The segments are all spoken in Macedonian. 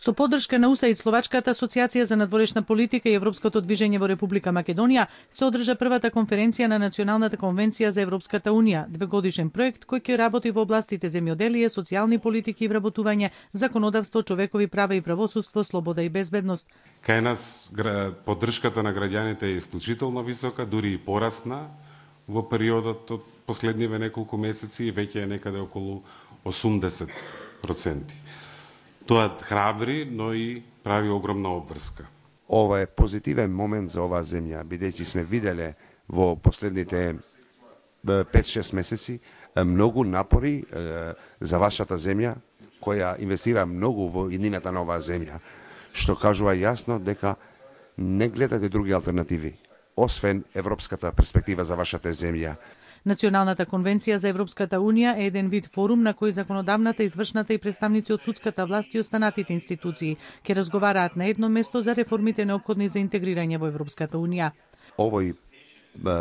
Со поддршка на УСАИД, Словачката асоциација за надворешна политика и Европското движење во Република Македонија се одржа првата конференција на Националната конвенција за Европската унија, двегодишен проект кој ќе работи во областите земјоделие, социјални политики и вработување, законодавство, човекови права и правосудство, слобода и безбедност. Кај нас поддршката на граѓаните е исклучително висока, дури и порасна во периодот од последниве неколку месеци и веќе е некаде околу 80%. Тоа храбри, но и прави огромна обврска. Ова е позитивен момент за оваа земја, бидејќи сме виделе во последните 5-6 месеци многу напори за вашата земја, која инвестира многу во иднината на оваа земја, што кажува јасно дека не гледате други алтернативи, освен европската перспектива за вашата земја. Националната конвенција за Европската унија е еден вид форум на кој законодавната, извршната и представници од судската власт и останатите институции ќе разговараат на едно место за реформите неопходни за интегрирање во Европската унија. Овој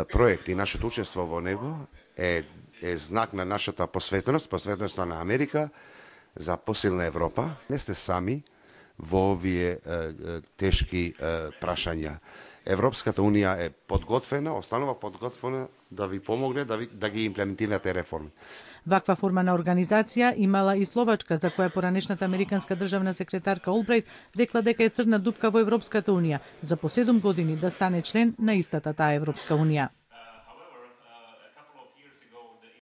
проект и нашето учество во него е знак на нашата посветеност на Америка за посилна Европа. Не сте сами во овие тешки прашања. Европската унија е подготвена, останува подготвена да ви помогне да ги имплементирате реформи. Ваква форма на организација имала и Словачка, за која поранешната американска државна секретарка Олбрајт рекла дека е црна дупка во Европската унија за по 7 години да стане член на истата таа Европска унија.